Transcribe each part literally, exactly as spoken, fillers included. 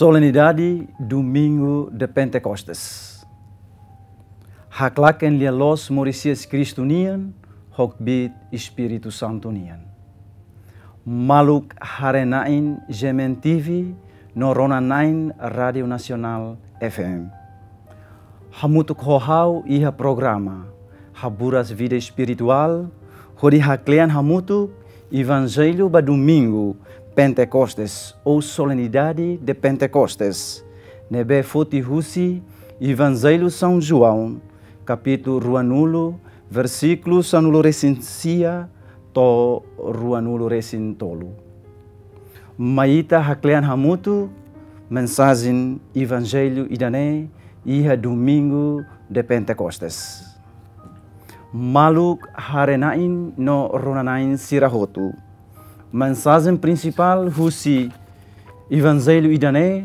Solenidade Domingu de Pentecostes. Haklaken lia-loos moris hi'as Kristu nian, ho kbiit Espíritu Santu nian. Maluk haree-na'in G M N T V no rona-na'in Rádiu Nasionál F M. Hamutuk ho ha'u iha programa Haburas Vida Espirituál, hodi haklean hamutuk Evanjellu ba Domingu Pentecostes, ou Solenidade de Pentecostes, ne'ebé foti husi Evanjellu São João, kapítulu ruanulu, versíkulu sanulu-resin-sia to'o ruanulu-resin-tolu. Mai ita haklean hamutuk mensajen Evanjellu ida-ne'e iha Domingu de Pentecostes. Maluk haree-na'in no rona-na'in sira hotu. Mensajen prinsipál husi Evanjellu ida-ne'e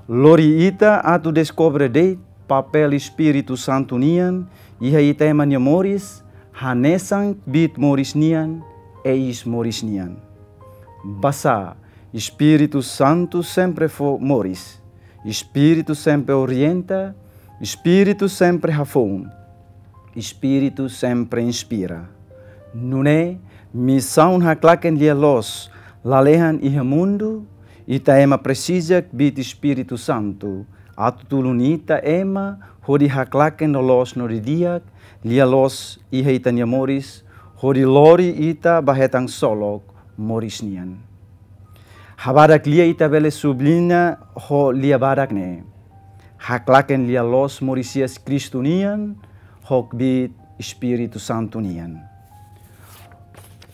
lori ita atu deskobre de'it papél Espíritu Santu nian iha ita ema nia moris, hanesan kbiit moris nian, eis moris nian. Basá, Espíritu Santu sempre fó moris. Espíritu sempre orienta, Espíritu sempre hafoun, Espíritu sempre inspira. Nune'e, misaun haklaken lia-loos lalehan iha mundu, ita ema presiza kbiit Espíritu Santu atu tulun ita ema hodi haklaken loloos no didi'ak lia-loos iha ita-nia moris, hodi lori ita ba hetan ksolok moris nian. Habadak lia ita bele subliña ho lia badak ne'e: haklaken lia-loos moris hi'as Kristu nian, ho kbiit Espíritu Santu nian.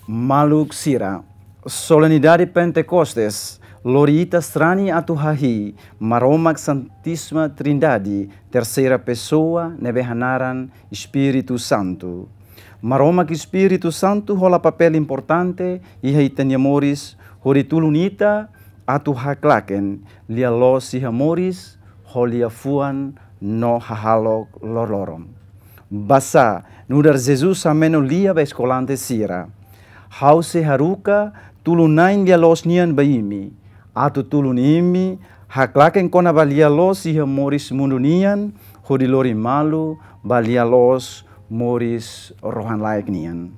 Maluk sira, Solenidade Pentecostes lori ita sarani atu hahi'i Maromak Santíssima Trindade, terseira pesoa, ne'ebé hanaran Espíritu Santu. Maromak Espíritu Santu hola papél importante iha ita-nia moris, hodi tulun ita atu haklaken lia-loos iha moris, ho liafuan no hahalok loroloron. Basá, nu'udar Jesus hameno lia ba eskolante sira: Ha'u sei haruka tulun-na'in lia-loos nian ba imi, atu tulun imi haklaken kona-ba lia-loos iha moris mundu nian, hodi lori malu ba lia-loos moris rohan-laek nian.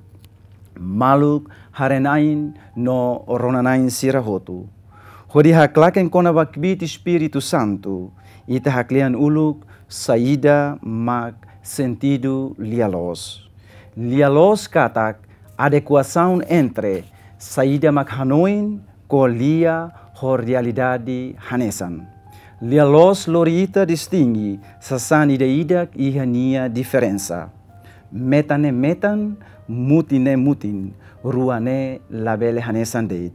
Maluk haree-na'in no rona-na'in sira hotu. Hodi haklaken kona-ba kbiit Espíritu Santu, ita haklean uluk saida mak sentidu lia-loos. Lia-loos katak adekuasaun entre saida mak hanoin, ko'alia ho realidade hanesan. Lia-loos lori ita distinge sasán ida-idak iha nia diferensa. Metan ne'e metan, mutin ne'e mutin, rua ne'e labele hanesan de'it.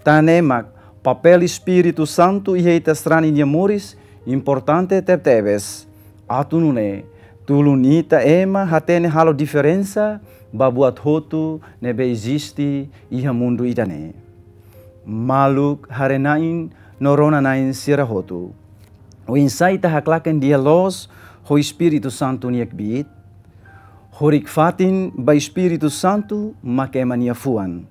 Tan ne'e mak papél Espíritu Santu iha ita sarani nia moris importante tebetebes. Atu nune'e, tulun ita ema hatene halo diferensa ba buat hotu ne'ebé eziste iha mundu ida-ne'e. Maluk haree-na'in no rona-na'in sira hotu. Oinsá ita haklaken lia-loos ho Espíritu Santu nia kbiit? Horik-fatin ba Espíritu Santu mak ema nia fuan.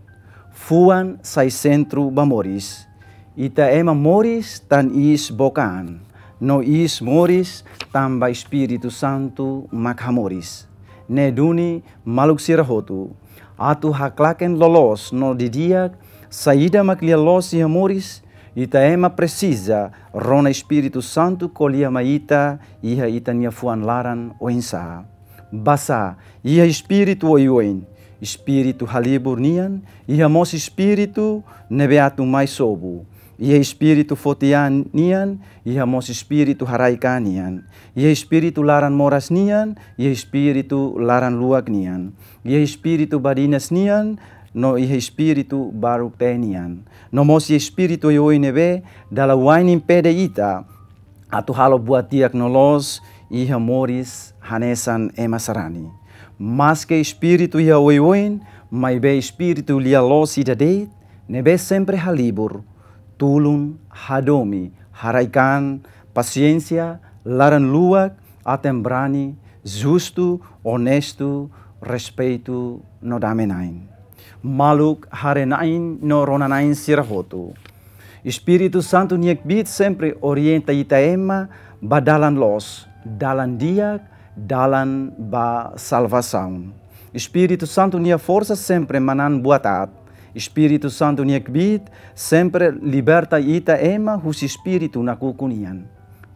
Fuan sai sentru ba moris. Ita ema moris tan iis book an, no iis moris tanba Espíritu Santu mak hamoris. Ne'e duni, maluk sira hotu, atu haklaken loloos no didi'ak saida mak lia-loos iha moris, ita ema presiza rona Espíritu Santu ko'alia mai ita iha ita-nia fuan laran oinsá. Basá, iha espíritu oioin, espíritu halibur nian, iha mós espíritu ne'ebé atu mai sobu. Iha espíritu foti an nian, iha mós espíritu haraik an nian. Iha espíritu laran moras nian, iha espíritu laran luak nian. Iha espíritu badinas nian, no iha espíritu baruk-teen nian. No mós iha espíritu oioin ne'ebé dala wa'in impede ita atu halo buat di'ak no loos iha moris hanesan ema sarani. Maske espíritu iha oioin, maibé espíritu lia-loos ida de'it, ne'ebé sempre halibur, tulun, hadomi, haraik an, pasiénsia, laran luak, aten-brani, justu, onestu, respeitu no dame-na'in. Maluk haree-na'in no rona-na'in sira hotu. Espíritu Santu nia kbiit sempre orienta ita ema ba dalan loos, dalan di'ak, dalan ba salvasaun. Espíritu Santu nia forsa sempre manán buat aat. Espíritu Santu nia kbiit sempre liberta ita ema husi espíritu nakukun nian.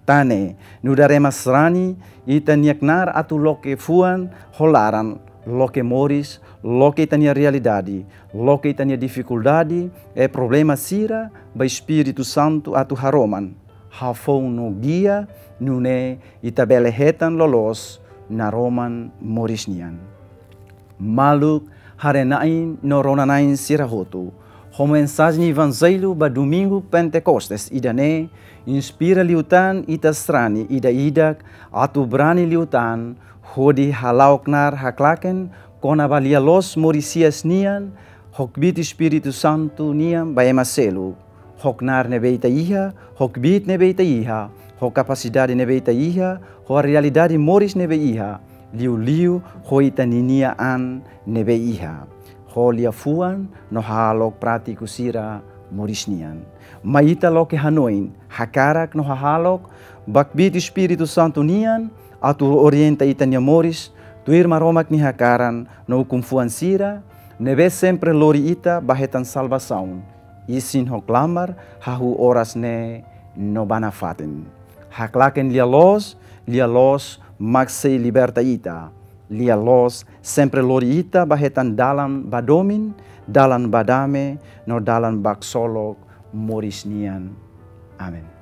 Tan ne'e, nu'udar ema sarani, ita-nia knaar atu loke fuan ho laran, loke moris, loke ita-nia realidade, loke ita-nia difikuldade, e problema sira, ba Espíritu Santu atu haroman, hafoun no gia, nune'e ita bele hetan loloos naroman moris nian. Maluk, haree-na'in no rona-na'in sira hotu, ho mensajen Evanjellu ba Domingu Pentekostes ida-ne'e, inspira liután ita sarani ida-idak atu brani liután hodi hala'o knaar haklaken kona-ba lia-loos moris hi'as nian, ho kbiit Espíritu Santu nian ba ema seluk. Ho knaar ne'ebé ita iha, ho kbiit ne'ebé ita iha, ho kapasidade ne'ebé ita iha, ho realidade moris ne'ebé iha, liuliu ho ita ninia an ne'ebé iha, ho liafuan no hahalok prátiku sira moris nian. Mai ita loke hanoin, hakarak no hahalok ba kbiit Espíritu Santu nian atu orienta ita-nia moris tuir Maromak nia hakaran no ukun-fuan sira, ne'ebé sempre lori ita ba hetan salvasaun, isin ho klamar, hahú oras ne'e no ba nafatin. Haklaken lia-loos, lia-loos mak sei liberta ita. Lia-loos sempre lori ita ba hetan dalan ba domin, dalan ba dame, no dalan ba ksolok moris nian. Amen.